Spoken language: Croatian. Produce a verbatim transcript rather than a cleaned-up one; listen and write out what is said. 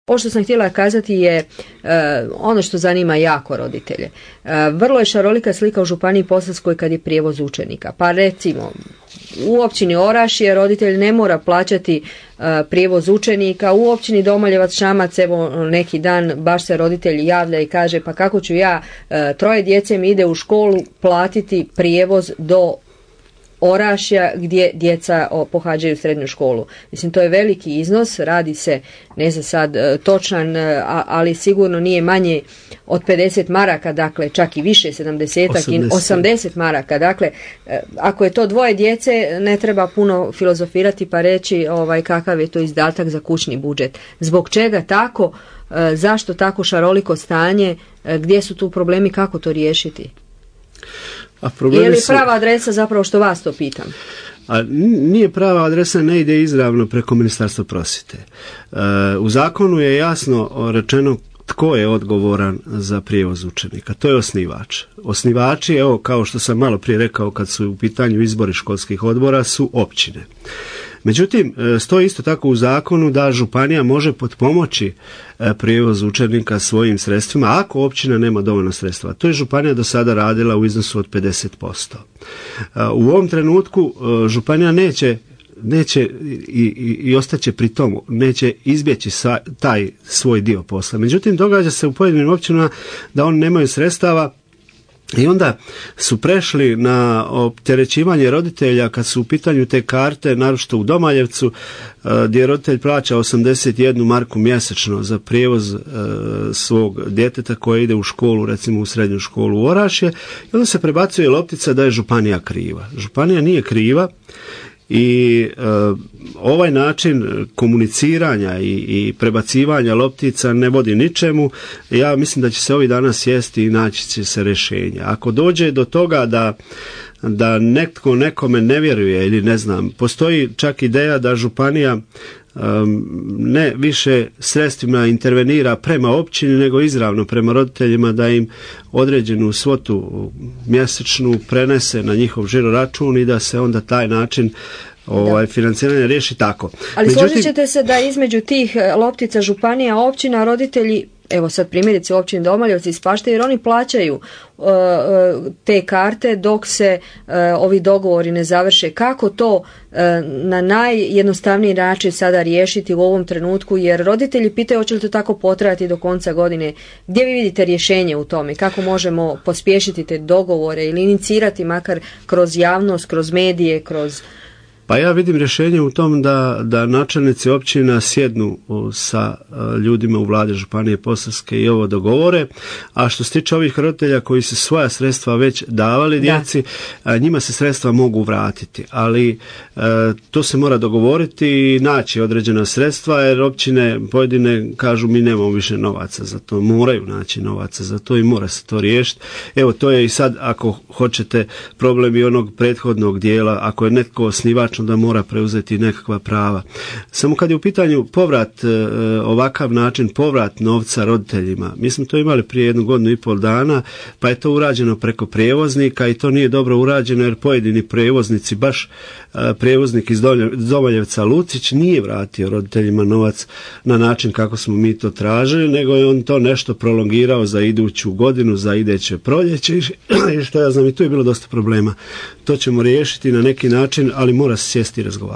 Ovo što sam htjela kazati je uh, ono što zanima jako roditelje. Uh, vrlo je šarolika slika u Županiji Posavskoj kad je prijevoz učenika. Pa recimo, u općini Orašje roditelj ne mora plaćati uh, prijevoz učenika, u općini Domoljevac Šamac, evo neki dan baš se roditelj javlja i kaže pa kako ću ja, uh, troje djece mi ide u školu platiti prijevoz do Orašja gdje djeca pohađaju srednju školu. Mislim, to je veliki iznos, radi se, ne znam sad točan, ali sigurno nije manje od pedeset maraka, dakle čak i više, sedamdeset, osamdeset maraka. Dakle, ako je to dvoje djece, ne treba puno filozofirati pa reći ovaj, kakav je to izdatak za kućni budžet. Zbog čega tako, zašto tako šaroliko stanje, gdje su tu problemi, kako to riješiti? A je li prava adresa zapravo što vas to pitam? A nije prava adresa, ne ide izravno preko Ministarstva prosvjete. E, u zakonu je jasno rečeno tko je odgovoran za prijevoz učenika. To je osnivač. Osnivači, evo kao što sam malo prije rekao kad su u pitanju izbori školskih odbora, su općine. Međutim, stoji isto tako u zakonu da županija može potpomoći prijevoz učenika svojim sredstvima ako općina nema dovoljno sredstva. To je županija do sada radila u iznosu od pedeset posto. U ovom trenutku županija neće neće i, i, i ostaće pri tomu, neće izbjeći sa, taj svoj dio posla. Međutim, događa se u pojedinim općinama da oni nemaju sredstava i onda su prešli na opterećivanje roditelja kad su u pitanju te karte, naročito u Domaljevcu, gdje roditelj plaća osamdeset jednu marku mjesečno za prijevoz e, svog djeteta koje ide u školu, recimo u srednju školu u Orašje, i onda se prebacuje loptica da je županija kriva. Županija nije kriva. I e, ovaj način komuniciranja i, i prebacivanja loptica ne vodi ničemu. Ja mislim da će se ovih dana sjesti i naći će se rješenje. Ako dođe do toga da da netko nekome ne vjeruje ili ne znam, postoji čak ideja da županija um, ne više sredstvima intervenira prema općini nego izravno prema roditeljima, da im određenu svotu mjesečnu prenese na njihov žiro račun i da se onda taj način ovaj, financiranje riješi tako. Ali Međutim, složit ćete se da između tih loptica županija, općina, roditelji, evo sad primjerice u općini Domaljevci ispaštaju jer oni plaćaju uh, te karte dok se uh, ovi dogovori ne završe. Kako to uh, na najjednostavniji način sada riješiti u ovom trenutku, jer roditelji pitaju hoće li to tako potrajati do konca godine. Gdje vi vidite rješenje u tome? Kako možemo pospješiti te dogovore ili inicirati makar kroz javnost, kroz medije, kroz... Pa ja vidim rješenje u tom da, da načelnici općina sjednu sa ljudima u vladi Županije Posavske i ovo dogovore, a što se tiče ovih roditelja koji su svoja sredstva već davali djeci, da. njima se sredstva mogu vratiti, ali e, to se mora dogovoriti i naći određena sredstva, jer općine pojedine kažu mi nemamo više novaca za to, moraju naći novaca za to i mora se to riješiti. Evo, to je i sad, ako hoćete, problem i onog prethodnog dijela, ako je netko osnivač da mora preuzeti nekakva prava. Samo kad je u pitanju povrat, e, ovakav način, povrat novca roditeljima, mi smo to imali prije jednu godinu i pol dana, pa je to urađeno preko prijevoznika i to nije dobro urađeno jer pojedini prijevoznici, baš e, prijevoznik iz Domaljevca Lucić nije vratio roditeljima novac na način kako smo mi to tražili, nego je on to nešto prolongirao za iduću godinu, za ideće proljeće i što ja znam, i tu je bilo dosta problema. To ćemo riješiti na neki način, ali mora se sjesti i razgovarati.